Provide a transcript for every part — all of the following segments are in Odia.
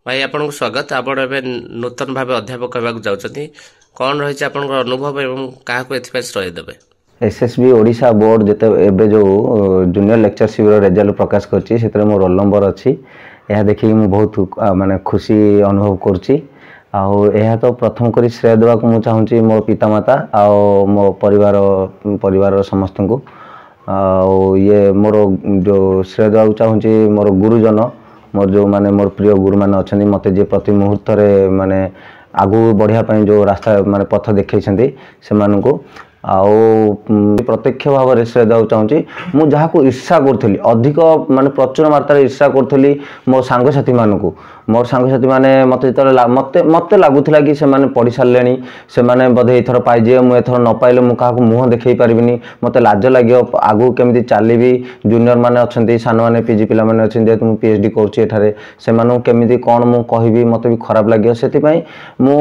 ଭାଇ, ଆପଣଙ୍କୁ ସ୍ୱାଗତ। ଆପଣ ଏବେ ନୂତନ ଭାବେ ଅଧ୍ୟାପକ ହେବାକୁ ଯାଉଛନ୍ତି। କ'ଣ ରହିଛି ଆପଣଙ୍କର ଅନୁଭବ ଏବଂ କାହାକୁ ଏଥିପାଇଁ ଶ୍ରେୟ ଦେବେ? ଏସ୍ଏସ୍ବି ଓଡ଼ିଶା ବୋର୍ଡ଼ ଯେତେ ଏବେ ଯେଉଁ ଜୁନିୟର ଲେକ୍ଚରସିପ୍ର ରେଜଲ୍ଟ ପ୍ରକାଶ କରିଛି, ସେଥିରେ ମୋ ରୋଲ୍ ନମ୍ବର ଅଛି। ଏହା ଦେଖିକି ମୁଁ ବହୁତ ମାନେ ଖୁସି ଅନୁଭବ କରୁଛି। ଆଉ ଏହା ତ ପ୍ରଥମ କରି ଶ୍ରେୟ ଦେବାକୁ ମୁଁ ଚାହୁଁଛି ମୋ ପିତାମାତା ଆଉ ମୋ ପରିବାରର ସମସ୍ତଙ୍କୁ। ଆଉ ଇଏ ମୋର ଯେଉଁ ଶ୍ରେୟ ଦେବାକୁ ଚାହୁଁଛି ମୋର ଗୁରୁଜନ, ମୋର ଯେଉଁମାନେ ମୋର ପ୍ରିୟ ଗୁରୁମାନେ ଅଛନ୍ତି, ମୋତେ ଯିଏ ପ୍ରତି ମୁହୂର୍ତ୍ତରେ ମାନେ ଆଗକୁ ବଢ଼ିବା ପାଇଁ ଯେଉଁ ରାସ୍ତା ମାନେ ପଥ ଦେଖେଇଛନ୍ତି ସେମାନଙ୍କୁ। ଆଉ ପ୍ରତ୍ୟକ୍ଷ ଭାବରେ ଶ୍ରେୟ ଦେବାକୁ ଚାହୁଁଛି ମୁଁ ଯାହାକୁ ଈର୍ଷା କରୁଥିଲି ଅଧିକ, ମାନେ ପ୍ରଚୁର ମାତ୍ରାରେ ଈର୍ଷା କରୁଥିଲି ମୋ ସାଙ୍ଗସାଥିମାନଙ୍କୁ। ମୋର ସାଙ୍ଗସାଥିମାନେ ମୋତେ ଯେତେବେଳେ ମୋତେ ଲାଗୁଥିଲା କି ସେମାନେ ପଢ଼ି ସାରିଲେଣି, ସେମାନେ ବୋଧେ ଏଇଥର ପାଇଯିବେ, ମୁଁ ଏଥର ନ ପାଇଲେ ମୁଁ କାହାକୁ ମୁହଁ ଦେଖେଇ ପାରିବିନି, ମୋତେ ଲାଜ ଲାଗିବ, ଆଗକୁ କେମିତି ଚାଲିବି, ଜୁନିୟର ମାନେ ଅଛନ୍ତି, ସାନମାନେ ପିଜି ପିଲାମାନେ ଅଛନ୍ତି, ଯେହେତୁ ମୁଁ ପିଏଚ୍ ଡି କରୁଛି ଏଠାରେ, ସେମାନଙ୍କୁ କେମିତି କ'ଣ ମୁଁ କହିବି, ମୋତେ ବି ଖରାପ ଲାଗିବ। ସେଥିପାଇଁ ମୁଁ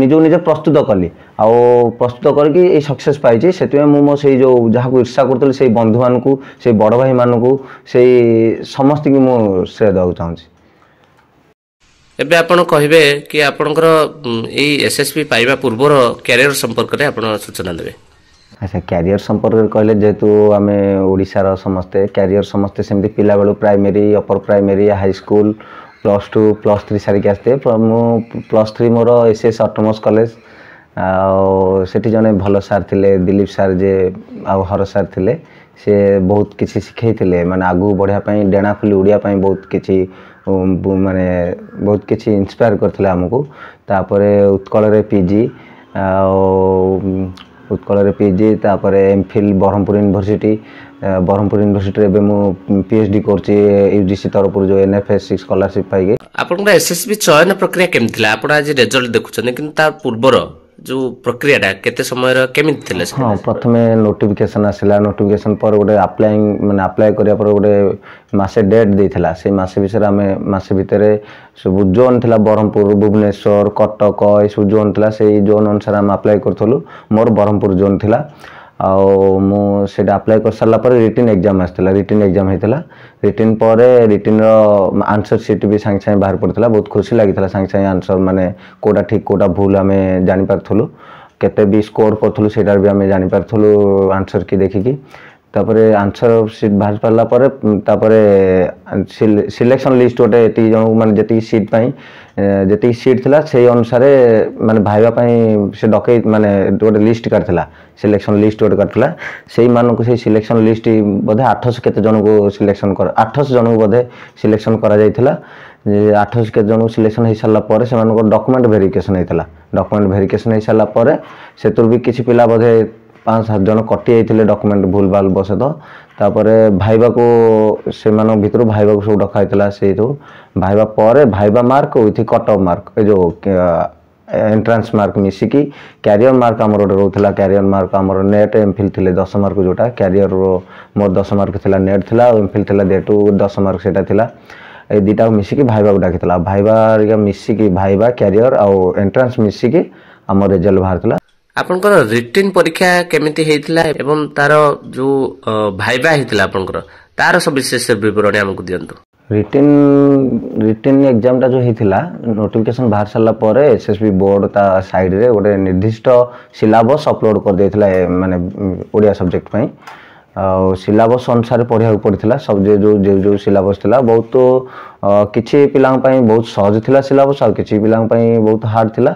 ନିଜକୁ ନିଜେ ପ୍ରସ୍ତୁତ କଲି ଆଉ ପ୍ରସ୍ତୁତ କରିକି ଏଇ ସକ୍ସେସ୍ ପାଇଛି। ସେଥିପାଇଁ ମୁଁ ମୋ ସେଇ ଯେଉଁ ଯାହାକୁ ଈର୍ଷା କରୁଥିଲି, ସେଇ ବନ୍ଧୁମାନଙ୍କୁ, ସେଇ ବଡ଼ ଭାଇମାନଙ୍କୁ, ସେଇ ସମସ୍ତଙ୍କୁ ମୁଁ ଶ୍ରେୟ ଦେବାକୁ ଚାହୁଁଛି। ଏବେ ଆପଣ କହିବେ କି ଆପଣଙ୍କର ଏଇ ଏସ୍ଏସ୍ବି ପାଇବା ପୂର୍ବର କ୍ୟାରିୟର ସମ୍ପର୍କରେ ଆପଣ ସୂଚନା ଦେବେ। ଆଚ୍ଛା, କ୍ୟାରିୟର ସମ୍ପର୍କରେ କହିଲେ, ଯେହେତୁ ଆମେ ଓଡ଼ିଶାର ସମସ୍ତେ କ୍ୟାରିୟର ସମସ୍ତେ ସେମିତି ପିଲାବେଳୁ primary, upper primary, high school, +2, +3 ସାରିକି ଆସିଥିବେ। ମୁଁ +3 ମୋର ଏସ୍ ଏସ୍ ଅଟୋନମସ୍ କଲେଜ। ଆଉ ସେଠି ଜଣେ ଭଲ ସାର୍ ଥିଲେ, ଦିଲୀପ ସାର୍ ଯେ ଆଉ ହର ସାର୍ ଥିଲେ, ସେ ବହୁତ କିଛି ଶିଖେଇଥିଲେ, ମାନେ ଆଗକୁ ବଢ଼ିବା ପାଇଁ, ଡେଣା ଖୋଲି ଉଡ଼ିବା ପାଇଁ ବହୁତ କିଛି, ମାନେ ବହୁତ କିଛି ଇନ୍ସପାୟାର କରିଥିଲେ ଆମକୁ। ତାପରେ ଉତ୍କଳରେ ପିଜି, ଆଉ ଉତ୍କଳରେ ପିଜି, ତାପରେ ଏମ୍ଫିଲ୍ ବ୍ରହ୍ମପୁର ୟୁନିଭର୍ସିଟି। ବ୍ରହ୍ମପୁର ୟୁନିଭର୍ସିଟିରେ ଏବେ ମୁଁ ପିଏଚ୍ ଡି କରୁଛି ୟୁଜିସି ତରଫରୁ ଯେଉଁ ଏନ୍ଏଫ୍ଏସ୍ 6 ସ୍କଲାରସିପ୍ ପାଇକି। ଆପଣଙ୍କର ଏସ୍ଏସ୍ବି ଚୟନ ପ୍ରକ୍ରିୟା କେମିତି ଥିଲା? ଆପଣ ଆଜି ରେଜଲ୍ଟ ଦେଖୁଛନ୍ତି, କିନ୍ତୁ ତା ପୂର୍ବର ଯେଉଁ ପ୍ରକ୍ରିୟାଟା କେତେ ସମୟର କେମିତି ଥିଲା? ହଁ, ପ୍ରଥମେ ନୋଟିଫିକେସନ୍ ଆସିଲା। ନୋଟିଫିକେସନ୍ ପରେ ଗୋଟେ ଆପ୍ଲାଇଂ, ମାନେ ଆପ୍ଲାଏ କରିବା ପରେ ଗୋଟେ ମାସେ ଡେଟ୍ ଦେଇଥିଲା। ସେଇ ମାସେ ବିଷୟରେ ଆମେ ମାସେ ଭିତରେ ସବୁ ଜୋନ୍ ଥିଲା, ବ୍ରହ୍ମପୁର, ଭୁବନେଶ୍ୱର, କଟକ, ଏସବୁ ଜୋନ୍ ଥିଲା। ସେଇ ଜୋନ୍ ଅନୁସାରେ ଆମେ ଆପ୍ଲାଏ କରୁଥିଲୁ। ମୋର ବ୍ରହ୍ମପୁର ଜୋନ୍ ଥିଲା। ଆଉ ମୁଁ ସେଇଟା ଆପ୍ଲାଏ କରିସାରିଲା ପରେ ରିଟିନ୍ ଏକ୍ଜାମ୍ ଆସିଥିଲା। ରିଟିନ୍ ଏକ୍ଜାମ୍ ହେଇଥିଲା। ରିଟିନ୍ ପରେ ରିଟିନ୍ର ଆନ୍ସର୍ ସିଟ୍ ବି ସାଙ୍ଗେ ସାଙ୍ଗେ ବାହାରି ପଡ଼ିଥିଲା। ବହୁତ ଖୁସି ଲାଗିଥିଲା। ସାଙ୍ଗେ ସାଙ୍ଗେ ଆନ୍ସର୍ ମାନେ କେଉଁଟା ଠିକ୍ କେଉଁଟା ଭୁଲ ଆମେ ଜାଣିପାରୁଥିଲୁ। କେତେ ବି ସ୍କୋର୍ କରୁଥିଲୁ ସେଇଟାରେ ବି ଆମେ ଜାଣିପାରୁଥିଲୁ ଆନ୍ସର୍ କି ଦେଖିକି। ତାପରେ ଆନ୍ସର୍ ସିଟ୍ ବାହାରି ପାରିଲା ପରେ ତାପରେ ସିଲେକ୍ସନ୍ ଲିଷ୍ଟ ଗୋଟେ ଏତିକି ଜଣଙ୍କୁ, ମାନେ ଯେତିକି ସିଟ୍ ପାଇଁ ଯେତିକି ସିଟ୍ ଥିଲା ସେଇ ଅନୁସାରେ ମାନେ ଭାଇବା ପାଇଁ ସେ ଡକେଇ, ମାନେ ଗୋଟେ ଲିଷ୍ଟ କାଢ଼ିଥିଲା, ସିଲେକ୍ସନ୍ ଲିଷ୍ଟ ଗୋଟେ କାଢ଼ିଥିଲା। ସେଇମାନଙ୍କୁ ସେଇ ସିଲେକ୍ସନ୍ ଲିଷ୍ଟ ବୋଧେ 800 କେତେ ଜଣଙ୍କୁ ସିଲେକ୍ସନ୍ କର 800 ଜଣଙ୍କୁ ବୋଧେ ସିଲେକ୍ସନ୍ କରାଯାଇଥିଲା। 800 କେତେ ଜଣଙ୍କୁ ସିଲେକ୍ସନ୍ ହେଇସାରିଲା ପରେ ସେମାନଙ୍କର ଡକୁମେଣ୍ଟ ଭେରିଫିକେସନ୍ ହେଇଥିଲା। ଡକୁମେଣ୍ଟ ଭେରିଫିକେସନ୍ ହେଇସାରିଲା ପରେ ସେଥିରୁ ବି କିଛି ପିଲା ବୋଧେ 5 7 ଜଣ କଟି ଯାଇଥିଲେ ଡକୁମେଣ୍ଟ ଭୁଲ ଭାଲ ବଶତଃ। ତାପରେ ଭାଇବାକୁ ସେମାନଙ୍କ ଭିତରୁ ଭାଇବାକୁ ସବୁ ଡକା ହେଇଥିଲା। ସେଇଠୁ ଭାଇବା ପରେ ଭାଇବା mark with cut off mark, ଏ ଯେଉଁ ଏଣ୍ଟ୍ରାନ୍ସ ମାର୍କ ମିଶିକି କ୍ୟାରିୟର ମାର୍କ ଆମର ଗୋଟେ ରହୁଥିଲା। କ୍ୟାରିୟର ମାର୍କ ଆମର ନେଟ୍ ଏମ୍ଫିଲ୍ ଥିଲେ 10 ମାର୍କ, ଯେଉଁଟା କ୍ୟାରିୟର ମୋର 10 ମାର୍କ ଥିଲା, ନେଟ୍ ଥିଲା ଆଉ ଏମ୍ଫିଲ୍ ଥିଲା, ଯେହେତୁ 10 ମାର୍କ ସେଇଟା ଥିଲା। ଏଇ ଦୁଇଟାକୁ ମିଶିକି ଭାଇବାକୁ ଡାକିଥିଲା। ଭାଇବା ମିଶିକି, ଭାଇବା, କ୍ୟାରିୟର ଆଉ ଏଣ୍ଟ୍ରାନ୍ସ ମିଶିକି ଆମ ରେଜଲ୍ଟ ବାହାରିଥିଲା। ଆପଣଙ୍କର ରିଟିନ୍ ପରୀକ୍ଷା କେମିତି ହେଇଥିଲା ଏବଂ ତାର ଯୋଉ ଭାଇବା ହେଇଥିଲା ଆପଣଙ୍କର, ତାର ସବିଶେଷ ବିବରଣୀ ଆମକୁ ଦିଅନ୍ତୁ। ରିଟିନ୍ ଏକ୍ଜାମଟା ଯେଉଁ ହେଇଥିଲା, ନୋଟିଫିକେସନ୍ ବାହାରି ସାରିଲା ପରେ ଏସ୍ଏସ୍ବି ବୋର୍ଡ଼ ତା ସାଇଡ଼୍ରେ ଗୋଟେ ନିର୍ଦ୍ଦିଷ୍ଟ ସିଲାବସ୍ ଅପଲୋଡ଼ କରିଦେଇଥିଲା, ମାନେ ଓଡ଼ିଆ ସବଜେକ୍ଟ ପାଇଁ। ଆଉ ସିଲାବସ୍ ଅନୁସାରେ ପଢ଼ିବାକୁ ପଡ଼ିଥିଲା। ସବୁ ଯେଉଁ ଯେଉଁ ଯେଉଁ ସିଲାବସ୍ ଥିଲା, ବହୁତ କିଛି ପିଲାଙ୍କ ପାଇଁ ବହୁତ ସହଜ ଥିଲା ସିଲାବସ୍, ଆଉ କିଛି ପିଲାଙ୍କ ପାଇଁ ବହୁତ ହାର୍ଡ଼ ଥିଲା।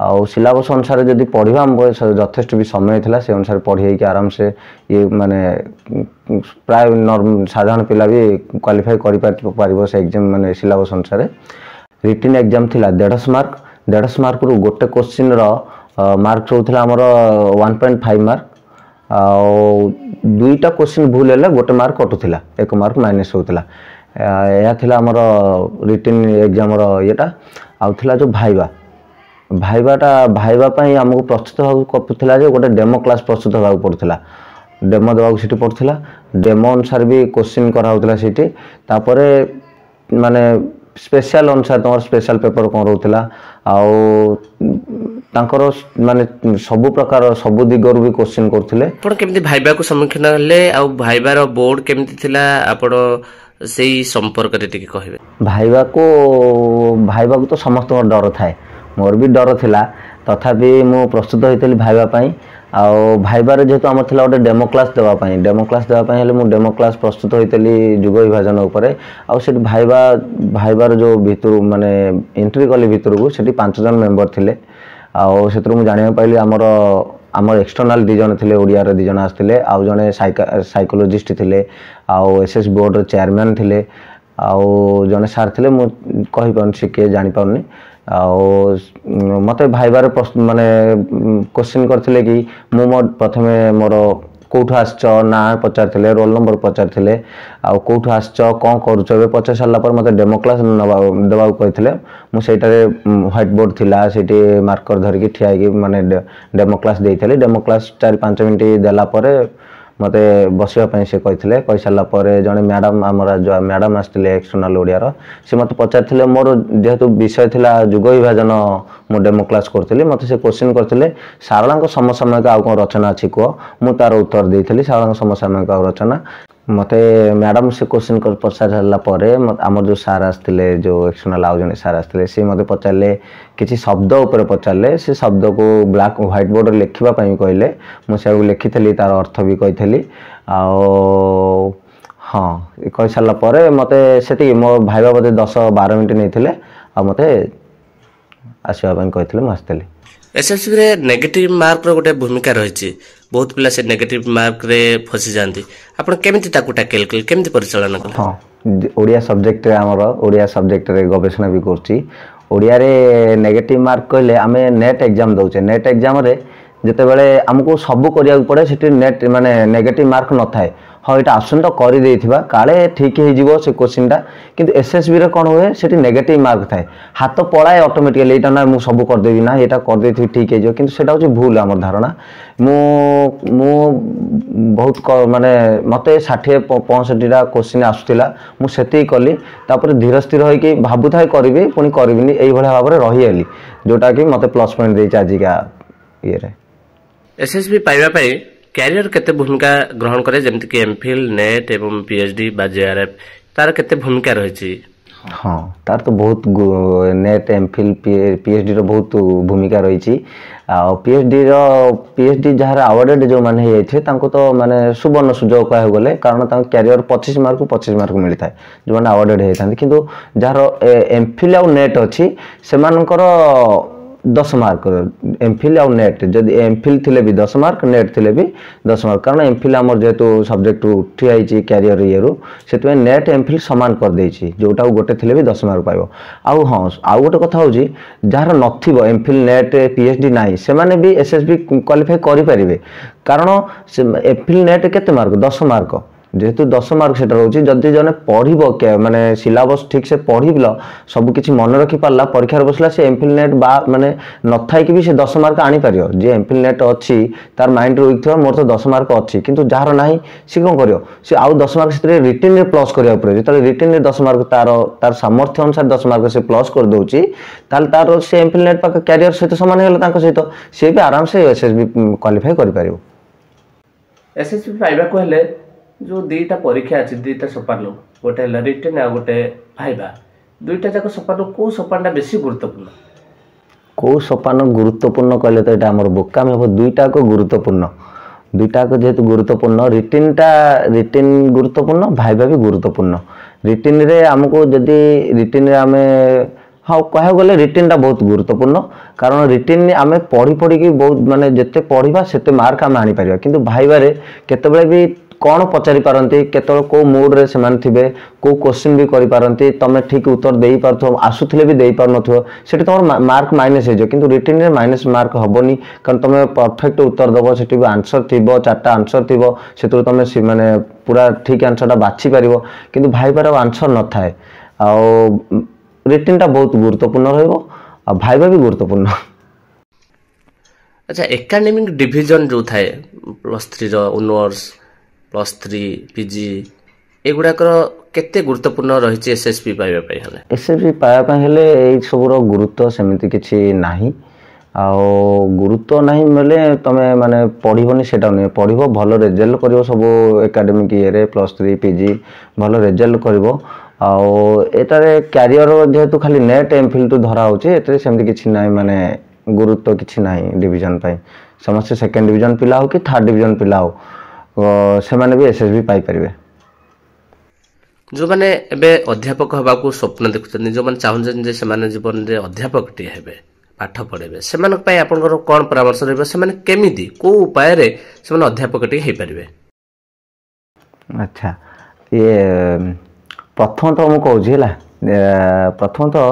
ଆଉ ସିଲାବସ୍ ଅନୁସାରେ ଯଦି ପଢ଼ିବା, ଆମ ଯଥେଷ୍ଟ ବି ସମୟ ଥିଲା, ସେ ଅନୁସାରେ ପଢ଼ି ହେଇକି ଆରାମସେ ଇଏ ମାନେ ପ୍ରାୟ ସାଧାରଣ ପିଲା ବି କ୍ୱାଲିଫାଏ କରିପାରିବ ସେ ଏକ୍ଜାମ୍, ମାନେ ସିଲାବସ୍ ଅନୁସାରେ। ରିଟିନ୍ ଏକ୍ଜାମ୍ ଥିଲା 150 ମାର୍କ। 150 ମାର୍କରୁ ଗୋଟେ କୋଶ୍ଚିନ୍ର ମାର୍କ ରହୁଥିଲା ଆମର 1.5 ମାର୍କ। ଆଉ ଦୁଇଟା କୋଶ୍ଚିନ୍ ଭୁଲ ହେଲେ ଗୋଟେ ମାର୍କ କଟୁଥିଲା, 1 ମାର୍କ ମାଇନସ୍ ହେଉଥିଲା। ଏହା ଥିଲା ଆମର ରିଟିନ୍ ଏକ୍ଜାମ୍ର ଇଏଟା। ଆଉ ଥିଲା ଯେଉଁ ଭାଇବା। ଭାଇବାଟା, ଭାଇବା ପାଇଁ ଆମକୁ ପ୍ରସ୍ତୁତ ହେବାକୁ ଥିଲା ଯେ ଗୋଟେ ଡେମୋ କ୍ଲାସ୍ ପ୍ରସ୍ତୁତ ହେବାକୁ ପଡ଼ୁଥିଲା, ଡେମୋ ଦେବାକୁ ସେଠି ପଡ଼ୁଥିଲା। ଡେମୋ ଅନୁସାରେ ବି କୋଶ୍ଚିନ୍ କରାହେଉଥିଲା ସେଇଠି। ତାପରେ ମାନେ ସ୍ପେଶାଲ ଅନୁସାରେ ତୁମର ସ୍ପେଶାଲ ପେପର କ'ଣ ରହୁଥିଲା, ଆଉ ତାଙ୍କର ମାନେ ସବୁ ପ୍ରକାର ସବୁ ଦିଗରୁ ବି କୋଶ୍ଚିନ୍ କରୁଥିଲେ। ଆପଣ କେମିତି ଭାଇବାକୁ ସମ୍ମୁଖୀନ ହେଲେ ଆଉ ଭାଇବାର ବୋର୍ଡ କେମିତି ଥିଲା, ଆପଣ ସେଇ ସମ୍ପର୍କରେ ଟିକେ କହିବେ। ଭାଇବାକୁ, ଭାଇବାକୁ ତ ସମସ୍ତଙ୍କର ଡର ଥାଏ, ମୋର ବି ଡର ଥିଲା। ତଥାପି ମୁଁ ପ୍ରସ୍ତୁତ ହୋଇଥିଲି ଭାଇବା ପାଇଁ। ଆଉ ଭାଇବାରେ ଯେହେତୁ ଆମର ଥିଲା ଗୋଟେ ଡେମୋ କ୍ଲାସ୍ ଦେବା ପାଇଁ, ଡେମୋ କ୍ଲାସ୍ ଦେବା ପାଇଁ ହେଲେ ମୁଁ ଡେମୋ କ୍ଲାସ୍ ପ୍ରସ୍ତୁତ ହୋଇଥିଲି ଯୁଗ ବିଭାଜନ ଉପରେ। ଆଉ ସେଠି ଭାଇବାର ଯେଉଁ ଭିତରୁ ମାନେ ଏଣ୍ଟ୍ରି କଲି ଭିତରକୁ, ସେଠି 5 ଜଣ ମେମ୍ବର ଥିଲେ। ଆଉ ସେଥିରୁ ମୁଁ ଜାଣିବାକୁ ପାଇଲି ଆମର ଆମର ଏକ୍ସଟର୍ନାଲ୍ 2 ଜଣ ଥିଲେ, ଓଡ଼ିଆର 2 ଜଣ ଆସିଥିଲେ, ଆଉ ଜଣେ ସାଇକୋଲୋଜିଷ୍ଟ ଥିଲେ, ଆଉ ଏସ୍ ଏସ୍ ବୋର୍ଡ଼ର ଚେୟାରମ୍ୟାନ୍ ଥିଲେ, ଆଉ ଜଣେ ସାର୍ ଥିଲେ, ମୁଁ କହିପାରୁନି ସେ କିଏ ଜାଣିପାରୁନି। ଆଉ ମୋତେ ଭାଇବାର ମାନେ କୋଶ୍ଚିନ୍ କରିଥିଲେ କି ମୁଁ ମୋ ପ୍ରଥମେ ମୋର କେଉଁଠୁ ଆସିଛ, ନାଁ ପଚାରିଥିଲେ, ରୋଲ୍ ନମ୍ବର ପଚାରିଥିଲେ, ଆଉ କେଉଁଠୁ ଆସିଛ, କ'ଣ କରୁଛ ଏବେ ପଚାରି ସାରିଲା ପରେ ମୋତେ ଡେମୋ କ୍ଲାସ୍ ଦେବାକୁ କହିଥିଲେ। ମୁଁ ସେଇଟାରେ ହ୍ୱାଇଟ୍ ବୋର୍ଡ଼ ଥିଲା, ସେଇଠି ମାର୍କର ଧରିକି ଠିଆ ହେଇକି ମାନେ ଡେମୋ କ୍ଲାସ୍ ଦେଇଥିଲି। ଡେମୋ କ୍ଲାସ୍ 4-5 ମିନିଟ୍ ଦେଲା ପରେ ମୋତେ ବସିବା ପାଇଁ ସେ କହିଥିଲେ। କହିସାରିଲା ପରେ ଜଣେ ମ୍ୟାଡ଼ାମ୍, ଆମର ଯେଉଁ ମ୍ୟାଡ଼ାମ୍ ଆସିଥିଲେ ଏକ୍ସଟର୍ନାଲ୍ ଓଡ଼ିଆର, ସେ ମୋତେ ପଚାରିଥିଲେ, ମୋର ଯେହେତୁ ବିଷୟ ଥିଲା ଯୁଗ ବିଭାଜନ, ମୁଁ ଡେମୋ କ୍ଲାସ୍ କରୁଥିଲି, ମୋତେ ସେ କୋଶ୍ଚିନ୍ କରିଥିଲେ ସାରଳାଙ୍କ ସମସାମୟିକ ଆଉ କ'ଣ ରଚନା ଅଛି କୁହ। ମୁଁ ତା'ର ଉତ୍ତର ଦେଇଥିଲି ସାରଳାଙ୍କ ସମସାମୟିକ ଆଉ ରଚନା। ମୋତେ ମ୍ୟାଡ଼ାମ୍ ସେ କୋଶ୍ଚିନ୍ ପଚାରି ସାରିଲା ପରେ ଆମର ଯେଉଁ ସାର୍ ଆସିଥିଲେ, ଯେଉଁ ଏକ୍ସଟର୍ନାଲ୍ ଆଉ ଜଣେ ସାର୍ ଆସିଥିଲେ, ସେ ମୋତେ ପଚାରିଲେ କିଛି ଶବ୍ଦ ଉପରେ ପଚାରିଲେ। ସେ ଶବ୍ଦକୁ ବ୍ଲାକ୍ ହ୍ୱାଇଟ୍ ବୋର୍ଡ଼ରେ ଲେଖିବା ପାଇଁ କହିଲେ। ମୁଁ ସେୟାକୁ ଲେଖିଥିଲି, ତା'ର ଅର୍ଥ ବି କହିଥିଲି। ଆଉ ହଁ, କହିସାରିଲା ପରେ ମୋତେ ସେତିକି ମୋ ଭାଇବା ବୋଧେ 10-12 ମିନିଟ୍ ନେଇଥିଲେ, ଆଉ ମୋତେ ଆସିବା ପାଇଁ କହିଥିଲେ, ମୁଁ ଆସିଥିଲି। ଏସ୍ଏସ୍ବିରେ ନେଗେଟିଭ୍ ମାର୍କର ଗୋଟେ ଭୂମିକା ରହିଛି, ବହୁତ ପିଲା ସେ ନେଗେଟିଭ୍ ମାର୍କରେ ଫସିଯାଆନ୍ତି। ଆପଣ କେମିତି ତାକୁ ଟ୍ୟାକେଲ୍ କଲେ, କେମିତି ପରିଚାଳନା କଲେ? ହଁ, ଓଡ଼ିଆ ସବଜେକ୍ଟରେ, ଆମର ଓଡ଼ିଆ ସବଜେକ୍ଟରେ ଗବେଷଣା ବି କରୁଛି। ଓଡ଼ିଆରେ ନେଗେଟିଭ୍ ମାର୍କ କହିଲେ ଆମେ ନେଟ୍ ଏକ୍ଜାମ୍ ଦେଉଛେ, ନେଟ୍ ଏକ୍ଜାମ୍ରେ ଯେତେବେଳେ ଆମକୁ ସବୁ କରିବାକୁ ପଡ଼େ, ସେଠି ନେଟ୍ ମାନେ ନେଗେଟିଭ୍ ମାର୍କ ନଥାଏ। ହଁ, ଏଇଟା ଆସୁନି ତ କରିଦେଇଥିବା, କାଳେ ଠିକ୍ ହେଇଯିବ ସେ କୋଶ୍ଚିନ୍ଟା। କିନ୍ତୁ ଏସ୍ଏସ୍ବିରେ କ'ଣ ହୁଏ, ସେଠି ନେଗେଟିଭ୍ ମାର୍କ ଥାଏ, ହାତ ପଳାଏ ଅଟୋମେଟିକାଲି, ଏଇଟା ନା ମୁଁ ସବୁ କରିଦେବି, ନା ଏଇଟା କରିଦେଇଥିବି ଠିକ୍ ହେଇଯିବ। କିନ୍ତୁ ସେଇଟା ହେଉଛି ଭୁଲ ଆମର ଧାରଣା। ମୁଁ ବହୁତ ମାନେ ମୋତେ 60-65ଟା କୋଶ୍ଚିନ୍ ଆସୁଥିଲା, ମୁଁ ସେତିକି କଲି। ତାପରେ ଧୀର ସ୍ଥିର ହେଇକି ଭାବୁଥାଏ କରିବି, ପୁଣି କରିବିନି, ଏଇଭଳିଆ ଭାବରେ ରହିଗଲି, ଯେଉଁଟାକି ମୋତେ ପ୍ଲସ୍ ପଏଣ୍ଟ ଦେଇଛି ଆଜିକା ଇଏରେ। ଏସ୍ଏସ୍ବି ପାଇବା ପାଇଁ କ୍ୟାରିୟର କେତେ ଭୂମିକା ଗ୍ରହଣ କରେ, ଯେମିତିକି ଏମ୍ଫିଲ୍, ନେଟ୍ ଏବଂ ପିଏଚ୍ ଡି ବା ଜେଆର୍ଏଫ୍, ତାର କେତେ ଭୂମିକା ରହିଛି? ହଁ, ତାର ତ ବହୁତ, ନେଟ୍, ଏମ୍ଫିଲ୍, ପିଏଚ୍ ଡିର ବହୁତ ଭୂମିକା ରହିଛି। ଆଉ ପିଏଚ୍ ଡି ଯାହାର ଆୱାର୍ଡ଼େଡ଼ ଯେଉଁମାନେ ହେଇଯାଇଥିବେ, ତାଙ୍କୁ ତ ମାନେ ସୁବର୍ଣ୍ଣ ସୁଯୋଗ କହିବାକୁ ଗଲେ, କାରଣ ତାଙ୍କ କ୍ୟାରିୟର 25 ମାର୍କକୁ 25 ମାର୍କ ମିଳିଥାଏ ଯେଉଁମାନେ ଆୱାର୍ଡ଼େଡ଼ ହେଇଥାନ୍ତି। କିନ୍ତୁ ଯାହାର ଏମ୍ଫିଲ୍ ଆଉ ନେଟ୍ ଅଛି, ସେମାନଙ୍କର 10 ମାର୍କ। ଏମ୍ଫିଲ୍ ଆଉ ନେଟ୍, ଯଦି ଏମ୍ଫିଲ୍ ଥିଲେ ବି 10 ମାର୍କ, ନେଟ୍ ଥିଲେ ବି 10 ମାର୍କ। କାରଣ ଏମ୍ଫିଲ୍ ଆମର ଯେହେତୁ ସବଜେକ୍ଟରୁ ଉଠି ଯାଇଛି କ୍ୟାରିୟର ଇଏରୁ, ସେଥିପାଇଁ ନେଟ୍ ଏମ୍ଫିଲ୍ ସମାନ କରିଦେଇଛି, ଯେଉଁଟାକୁ ଗୋଟେ ଥିଲେ ବି 10 ମାର୍କ ପାଇବ। ଆଉ ହଁ, ଆଉ ଗୋଟେ କଥା ହେଉଛି, ଯାହାର ନଥିବ ଏମ୍ଫିଲ୍, ନେଟ୍, ପିଏଚ୍ ଡି ନାହିଁ, ସେମାନେ B S S B qualify କରିପାରିବେ। କାରଣ ସେ ଏମ୍ଫିଲ୍, ନେଟ୍ କେତେ ମାର୍କ? 10 ମାର୍କ। ଯେହେତୁ 10 ମାର୍କ ସେଟା ରହୁଛି, ଯଦି ଜଣେ ପଢ଼ିବ, ମାନେ ସିଲାବସ୍ ଠିକ୍ ସେ ପଢ଼ିଲ, ସବୁ କିଛି ମନେ ରଖିପାରିଲା, ପରୀକ୍ଷାରେ ବସିଲା, ସେ ଏମ୍ଫିଲ୍, ନେଟ୍ ବା ମାନେ ନଥାଇକି ବି ସେ 10 ମାର୍କ ଆଣିପାରିବ। ଯିଏ ଏମ୍ଫିଲ୍, ନେଟ୍ ଅଛି, ତାର ମାଇଣ୍ଡରେ ୱିକ୍ ଥିବ, ମୋର ତ 10 ମାର୍କ ଅଛି। କିନ୍ତୁ ଯାହାର ନାହିଁ, ସେ କ'ଣ କରିବ? ସେ ଆଉ 10 ମାର୍କ ସେଥିରେ ରିଟିନ୍ରେ ପ୍ଲସ୍ କରିବାକୁ ପଡ଼ିବ। ଯେତେବେଳେ ରିଟିନ୍ରେ 10 ମାର୍କ ତାର ସାମର୍ଥ୍ୟ ଅନୁସାରେ 10 ମାର୍କ ସେ ପ୍ଲସ୍ କରିଦେଉଛି, ତାହେଲେ ତାର ସେ ଏମ୍ଫିଲ୍, ନେଟ୍ ପାଖ କ୍ୟାରିୟର ସହିତ ସମାନ ହେଇଗଲା ତାଙ୍କ ସହିତ, ସିଏ ବି ଆରାମସେ ଏସ୍ ଏସ୍ ବି କ୍ୱାଲିଫାଏ କରିପାରିବ। ଏସ୍ଏସ୍ବି ପାଇବାକୁ ହେଲେ ଯେଉଁ 2ଟା ପରୀକ୍ଷା ଅଛି, 2ଟା ସୋପାନ, ଗୋଟେ ହେଲା ରିଟେନ୍ ଆଉ ଗୋଟେ ଭାଇବା, 2ଟା ଯାକ ସୋପାନ, କେଉଁ ସୋପାନଟା ବେଶୀ ଗୁରୁତ୍ୱପୂର୍ଣ୍ଣ? କେଉଁ ସୋପାନ ଗୁରୁତ୍ୱପୂର୍ଣ୍ଣ କହିଲେ ତ ଏଇଟା ଆମର ବୋକାମି ହେବ। 2ଟାକ ଗୁରୁତ୍ୱପୂର୍ଣ୍ଣ। 2ଟାକ ଯେହେତୁ ଗୁରୁତ୍ୱପୂର୍ଣ୍ଣ, ରିଟିନ୍ ଗୁରୁତ୍ୱପୂର୍ଣ୍ଣ, ଭାଇବା ବି ଗୁରୁତ୍ୱପୂର୍ଣ୍ଣ। ରିଟିନ୍ରେ ଆମକୁ ଯଦି ରିଟିନ୍ରେ ଆମେ, ହଁ, କହିବାକୁ ଗଲେ ରିଟିନ୍ଟା ବହୁତ ଗୁରୁତ୍ୱପୂର୍ଣ୍ଣ। କାରଣ ରିଟିନ୍ ଆମେ ପଢ଼ି ପଢ଼ିକି ବହୁତ, ମାନେ ଯେତେ ପଢ଼ିବା ସେତେ ମାର୍କ ଆମେ ଆଣିପାରିବା। କିନ୍ତୁ ଭାଇବାରେ କେତେବେଳେ ବି କ'ଣ ପଚାରି ପାରନ୍ତି, କେତେବେଳେ କେଉଁ ମୁଡ଼୍ରେ ସେମାନେ ଥିବେ, କେଉଁ କୋଶ୍ଚିନ୍ ବି କରିପାରନ୍ତି, ତୁମେ ଠିକ୍ ଉତ୍ତର ଦେଇପାରୁଥିବ, ଆସୁଥିଲେ ବି ଦେଇପାରୁନଥିବ, ସେଠି ତୁମର ମାର୍କ ମାଇନସ୍ ହେଇଯିବ। କିନ୍ତୁ ରିଟିନ୍ରେ ମାଇନସ୍ ମାର୍କ ହେବନି, କାରଣ ତୁମେ ପରଫେକ୍ଟ ଉତ୍ତର ଦେବ, ସେଠି ବି ଆନ୍ସର୍ ଥିବ, 4ଟା ଆନ୍ସର୍ ଥିବ, ସେଥିରୁ ତୁମେ ମାନେ ପୁରା ଠିକ୍ ଆନ୍ସର୍ଟା ବାଛିପାରିବ। କିନ୍ତୁ ଭାଇବାର ଆଉ ଆନ୍ସର୍ ନଥାଏ। ଆଉ ରିଟିନ୍ଟା ବହୁତ ଗୁରୁତ୍ୱପୂର୍ଣ୍ଣ ରହିବ, ଆଉ ଭାଇବା ବି ଗୁରୁତ୍ୱପୂର୍ଣ୍ଣ। ଆଚ୍ଛା, ଏକାଡେମିକ୍ ଡିଭିଜନ୍ ଯେଉଁ ଥାଏ, ପ୍ଲସ୍ ଥ୍ରୀର ଅନର୍ସ, +3, ପିଜି, ଏଗୁଡ଼ାକର କେତେ ଗୁରୁତ୍ୱପୂର୍ଣ୍ଣ ରହିଛି ଏସ୍ ଏସ୍ ବି ପାଇବା ପାଇଁ ହେଲେ? ଏସ୍ ଏସ୍ ବି ପାଇବା ପାଇଁ ହେଲେ ଏଇ ସବୁର ଗୁରୁତ୍ୱ ସେମିତି କିଛି ନାହିଁ। ଆଉ ଗୁରୁତ୍ୱ ନାହିଁ ବୋଲେ ତୁମେ ମାନେ ପଢ଼ିବନି ସେଇଟା ନୁହେଁ, ପଢ଼ିବ, ଭଲ ରେଜଲ୍ଟ କରିବ ସବୁ ଏକାଡେମିକ୍ ଇଏରେ, +3, ପିଜି ଭଲ ରେଜଲ୍ଟ କରିବ। ଆଉ ଏଟାରେ କ୍ୟାରିୟର ଯେହେତୁ ଖାଲି ନେଟ୍ ଏମ୍ଫିଲ୍ ଟୁ ଧରା ହେଉଛି, ଏଥିରେ ସେମିତି କିଛି ନାହିଁ, ମାନେ ଗୁରୁତ୍ୱ କିଛି ନାହିଁ ଡିଭିଜନ ପାଇଁ। ସମସ୍ତେ ସେକେଣ୍ଡ ଡିଭିଜନ ପିଲା ହଉ କି ଥାର୍ଡ଼ ଡିଭିଜନ ପିଲା ହଉ, ସେମାନେ ବି ଏସ୍ ଏସ୍ ବି ପାଇପାରିବେ। ଯେଉଁମାନେ ଏବେ ଅଧ୍ୟାପକ ହେବାକୁ ସ୍ୱପ୍ନ ଦେଖୁଛନ୍ତି, ଯେଉଁମାନେ ଚାହୁଁଛନ୍ତି ଯେ ସେମାନେ ଜୀବନରେ ଅଧ୍ୟାପକଟିଏ ହେବେ, ପାଠ ପଢ଼େଇବେ, ସେମାନଙ୍କ ପାଇଁ ଆପଣଙ୍କର କ'ଣ ପରାମର୍ଶ ରହିବ? ସେମାନେ କେମିତି, କେଉଁ ଉପାୟରେ ସେମାନେ ଅଧ୍ୟାପକଟିଏ ହେଇପାରିବେ? ଆଚ୍ଛା, ଇଏ ପ୍ରଥମତଃ ମୁଁ କହୁଛି ହେଲା, ପ୍ରଥମତଃ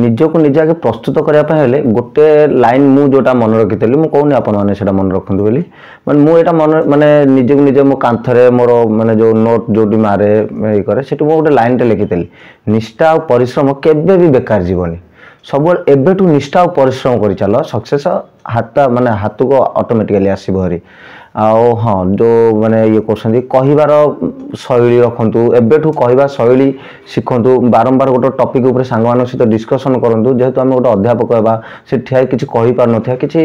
ନିଜକୁ ନିଜେ ଆଗେ ପ୍ରସ୍ତୁତ କରିବା ପାଇଁ ହେଲେ ଗୋଟେ ଲାଇନ୍ ମୁଁ ଯେଉଁଟା ମନେ ରଖିଥିଲି, ମୁଁ କହୁନି ଆପଣମାନେ ସେଇଟା ମନେ ରଖନ୍ତୁ ବୋଲି, ମାନେ ମୁଁ ଏଇଟା ମନେ ମାନେ ନିଜକୁ ନିଜେ ମୋ କାନ୍ଥରେ ମୋର ମାନେ ଯେଉଁ ନୋଟ୍ ଯେଉଁଠି ମାରେ ଇଏ କରେ, ସେଠି ମୁଁ ଗୋଟେ ଲାଇନ୍ଟେ ଲେଖିଥିଲି, ନିଷ୍ଠା ଆଉ ପରିଶ୍ରମ କେବେ ବି ବେକାର ଯିବନି। ସବୁବେଳେ ଏବେଠୁ ନିଷ୍ଠା ଆଉ ପରିଶ୍ରମ କରିଚାଲ, ସକ୍ସେସ୍ ହାତ ମାନେ ହାତକୁ ଅଟୋମେଟିକାଲି ଆସିବ ଭାରି। ଆଉ ହଁ, ଯେଉଁ ମାନେ ଇଏ କରୁଛନ୍ତି, କହିବାର ଶୈଳୀ ରଖନ୍ତୁ, ଏବେଠୁ କହିବା ଶୈଳୀ ଶିଖନ୍ତୁ, ବାରମ୍ବାର ଗୋଟେ ଟପିକ୍ ଉପରେ ସାଙ୍ଗମାନଙ୍କ ସହିତ ଡିସ୍କସନ୍ କରନ୍ତୁ। ଯେହେତୁ ଆମେ ଗୋଟେ ଅଧ୍ୟାପକ ହେବା, ସେ ଠିଆ କିଛି କହିପାରୁନଥିବା କିଛି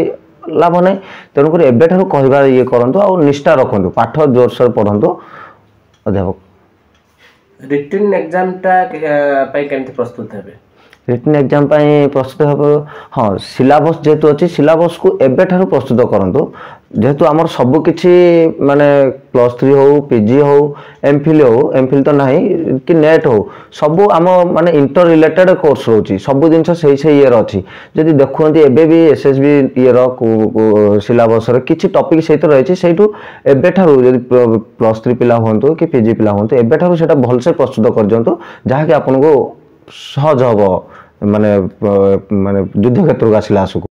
ଲାଭ ନାହିଁ, ତେଣୁକରି ଏବେଠାରୁ କହିବା ଇଏ କରନ୍ତୁ ଆଉ ନିଷ୍ଠା ରଖନ୍ତୁ, ପାଠ ଜୋରସୋର ପଢ଼ନ୍ତୁ। ଅଧ୍ୟାପକ ରିଟିନ୍ ଏକ୍ଜାମଟା ପାଇଁ କେମିତି ପ୍ରସ୍ତୁତ ହେବେ? ରିଟିନ୍ ଏକ୍ଜାମ୍ ପାଇଁ ପ୍ରସ୍ତୁତ ହେବ, ହଁ, ସିଲାବସ୍ ଯେହେତୁ ଅଛି, ସିଲାବସ୍କୁ ଏବେଠାରୁ ପ୍ରସ୍ତୁତ କରନ୍ତୁ। ଯେହେତୁ ଆମର ସବୁକିଛି ମାନେ +3 ହଉ, ପିଜି ହଉ, ଏମ୍ଫିଲ୍ ହଉ, ଏମ୍ଫିଲ୍ ତ ନାହିଁ, କି ନେଟ୍ ହଉ, ସବୁ ଆମ ମାନେ ଇଣ୍ଟର ରିଲେଟେଡ଼ କୋର୍ସ ରହୁଛି, ସବୁ ଜିନିଷ ସେଇ ସେଇ ଇଏର ଅଛି। ଯଦି ଦେଖୁଛନ୍ତି ଏବେ ବି ଏସ୍ ଏସ୍ ବି ଇଏର ସିଲାବସ୍ର କିଛି ଟପିକ୍ ସେଇଥିରେ ରହିଛି, ସେଇଠୁ ଏବେଠାରୁ ଯଦି +3 ପିଲା ହୁଅନ୍ତୁ କି ପିଜି ପିଲା ହୁଅନ୍ତୁ, ଏବେଠାରୁ ସେଇଟା ଭଲସେ ପ୍ରସ୍ତୁତ କରିଦିଅନ୍ତୁ, ଯାହାକି ଆପଣଙ୍କୁ ସହଜ ହେବ ମାନେ ମାନେ ଯୁଦ୍ଧ କ୍ଷେତ୍ରକୁ ଆସିଲା ଆସକୁ।